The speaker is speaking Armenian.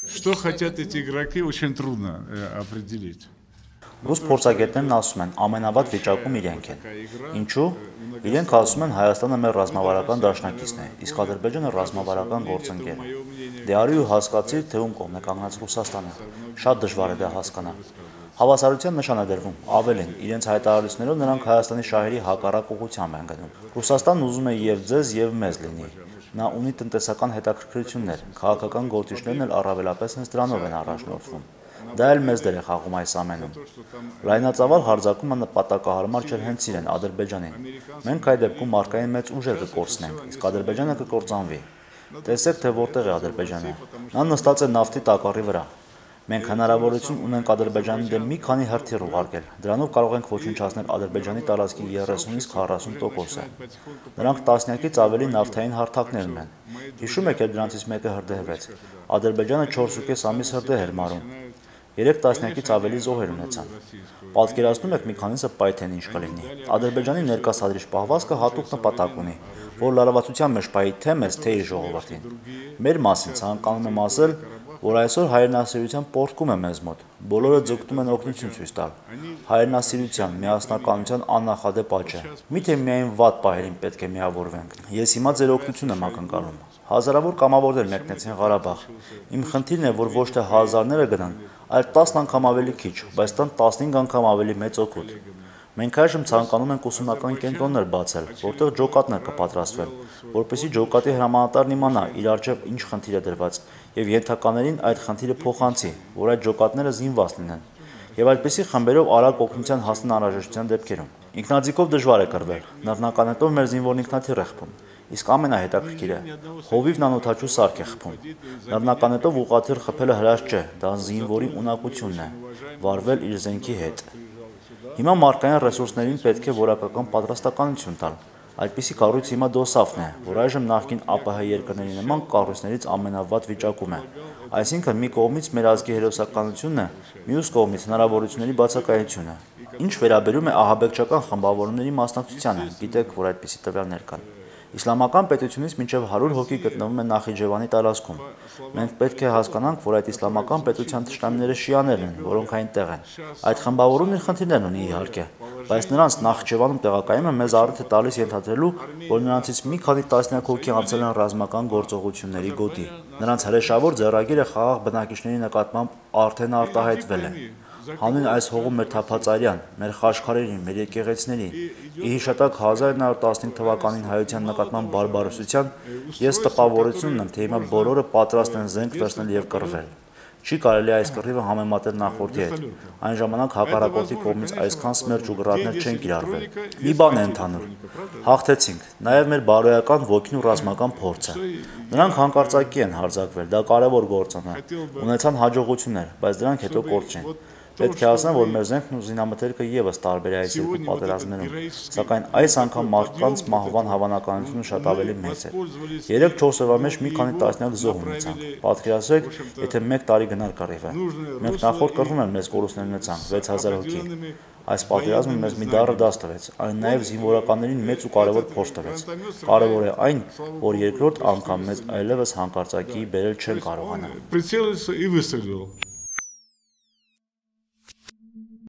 Что хотят эти игроки, очень трудно определить. Ռուս փորձագետներն ասում են, ամենավատ վիճակում իրենք են։ Ինչու՞։ Իրենք ասում են Հայաստանը մեր ռազմավարական դաշնակիցն է, իսկ Ադրբեջանը ռազմավարական գործընկեր է։ Դե արի ու հասկացիր, թե ում կողմն է կանգնած Ռուսաստանը։ Շատ դժվար է դա հասկանալ։ Հավասարության նշան է դրվում, ավելին, իրենց հայտարարություններով նրանք Հայաստանի շահերի հակառակ ուղղությամբ են գնում։ Ռուսաստանն ուզում է եւ ձեզ եւ մեզ լինի։ Նա ունի տնտեսական հետաքրքրություններ, քաղաքական գործիչներն էլ առավելապես հենց դրանով են առաջնորդվում։ Դա էլ մեծ դեր է խաղում այս ամենում։ Լայնածավալ հարձակումը նպատակահարմար չէր հենց իրեն Ադրբեջանին։ Մենք այդ դեպքում մարդկային մեծ ուժեր կկորցնենք, իսկ Ադրբեջանը կկործանվի։ Տեսեք, թե որտեղ է Ադրբեջանը։ Նա նստած է նավթի տակառի վրա։ Մենք հնարավորություն ունենք Ադրբեջանի դեմ մի քանի հրթիռ ուղարկել։ Դրանով կարող ենք ոչնչացնել Ադրբեջանի տարածքի 30-ից 40%-ը։ Նրանք տասնյակից ավելի նավթային հարթակներ ունեն։ Հիշում եք, երբ դրանցից մեկը հրդեհվեց։ Ադրբեջանը 4.5 ամիս հրդեհ էր մարում։ 3 տասնյակից ավելի զոհեր ունեցան։ Պատկերացնում եք մի քանիսը պայթեն ինչ կլինի։ Ադրբեջանի ներկայացրիչ պահվածքը հատուկ նպատակ ունի, որ լարվածության մեջ պահի թե մեզ, թե իր ժողովրդին։ Մեր մասին ցանկանում եմ ասել, որ այսօր հայրենասիրության պոռթկում է մեզ մոտ։ Բոլորը ձգտում են օգնություն ցույց տալ։ Հայրենասիրության, միասնականության աննախադեպ աճ է։ Միթե միայն վատ պահերին պետք է միավորվենք։ Ես հիմա ձեր օգնություն եմ ակնկալում։ Հազարավոր կամավորներ մեկնեցին Ղարաբաղ։ Իմ խնդիրն է, որ ոչ թե հազարները գնան, այլ 10 անգամ ավելի քիչ, բայց տան 15 անգամ ավելի մեծ օգուտ։ Մենք այժմ ցանկանում ենք ուսումնական կենտրոններ բացել, որտեղ ջոկատներ կպատրաստվեն, որպեսզի ջոկատի հրամանատարն իմանա իր առջև ինչ խնդիր է դրված, եւ ենթականերին այդ խնդիրը փոխանցի, որ այդ ջոկատները զինված լինեն, եւ այդպիսի խմբերով արագ օգնության հասնեն անհրաժեշտության դեպքերում։ Ինքնաձիգով դժվար է կռվել, նռնականետով մեր զինվորն ինքնաթիռ է խփում, իսկ ամենահետաքրքիրը հովիվն անօդաչու սարք է խփում։ Նռնականետով ուղղաթիռ խփելը հրաշք չէ, դա զինվորի ունակությունն է, վարվել իր զենքի հետ։ Հիմա մարդկային ռեսուրսներին պետք է որակական պատրաստականություն տալ։ Այդպիսի կառույց հիմա դոսաֆն է, որ այժմ նախկին ԱՊՀ երկրների նման կառույցներից ամենավատ վիճակում է։ Այսինքն մի կողմից մեր ազգի հերոսականությունն է, մյուս կողմից հնարավորությունների բացակայությունը։ Ինչ վերաբերում է ահաբեկչական խմբավորումների մասնակցությանը, գիտեք, որ այդպիսի տվյալներ կան։ Իսլամական պետությունից մինչև 100 հոգի գտնվում է Նախիջևանի տարածքում։ Մենք պետք է հասկանանք, որ այդ իսլամական պետության թշնամիները շիաներն են, որոնք այնտեղ են։ Այդ խմբավորումն իր խնդիրներն ունի իհարկե, բայց նրանց Նախիջևանում տեղակայումը մեզ առիթ է տալիս ենթադրելու, որ նրանցից մի քանի տասնյակ հոգի անցել են ռազմական գործողությունների գոտի։ Նրանց հրեշավոր ձեռագիրը խաղաղ բնակիչների նկատմամբ արդեն արտահայտվել է։ Հանուն այս հողում մեր թափածարյան, մեր խաչքարերի, մեր եկեղեցիների, ի հիշատակ 1915 թվականին հայության նկատմամբ բարբարոսության, ես տպավորություն ունեմ, թե հիմա բոլորը պատրաստ են զենք վերցնել եւ կռվել։ Չի կարելի այս կռիվը համեմատել նախորդի հետ։ Այն ժամանակ հակառակորդի կողմից այսքան սմերջ ու գրառներ չեն կիրառվել։ Մի բան է ընդհանուր։ Հաղթեցինք, նաեւ մեր բարոյական ոգին ու ռազմական փորձը։ Նրանք հանկարծակի են հարձակվել, դա կարևոր գործոն է։ Ունեցան հաջողություններ, բայց դրանք հետո կորչեն։ Պետք է ասեմ, որ մեր զենքն ու զինամթերքը եւս տարբեր է այս երկու պատերազմներում, սակայն այս անգամ մարդկանց մահվան հավանականությունը շատ ավելի մեծ է։ 3-4 օրվա մեջ մի քանի տասնյակ զոհ ունեցանք։ Պատկերացրեք, եթե 1 տարի գնար կռիվը։ Մենք նախորդ կռվում են մեծ կորուստներ ունեցանք 6000 հոգի։ Այս պատերազմը մեզ մի դառը դաս տվեց, այն նաև զինվորականներին մեծ ու կարևոր փորձ տվեց։ Կարևոր է այն, որ երկրորդ անգամ մեզ այլևս հանկարծակի բերել չեն կարողանա։